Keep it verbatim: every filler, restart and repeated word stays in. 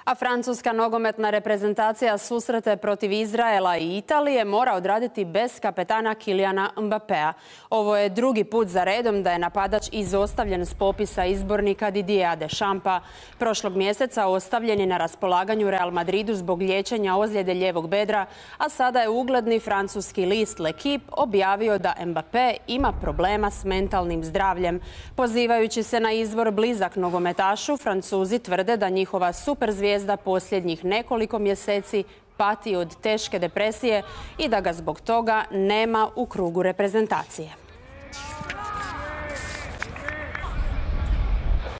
A francuska nogometna reprezentacija susrete protiv Izraela i Italije mora odraditi bez kapetana Kyliana Mbappéa. Ovo je drugi put za redom da je napadač izostavljen s popisa izbornika Didiera Deschampa. Prošlog mjeseca ostavljen je na raspolaganju Real Madridu zbog liječenja ozljede lijevog bedra, a sada je ugledni francuski list L'Equipe objavio da Mbappé ima problema s mentalnim zdravljem. Pozivajući se na izvor blizak nogometašu, Francuzi tvrde da njihova superzvijezda posljednjih nekoliko mjeseci pati od teške depresije i da ga zbog toga nema u krugu reprezentacije.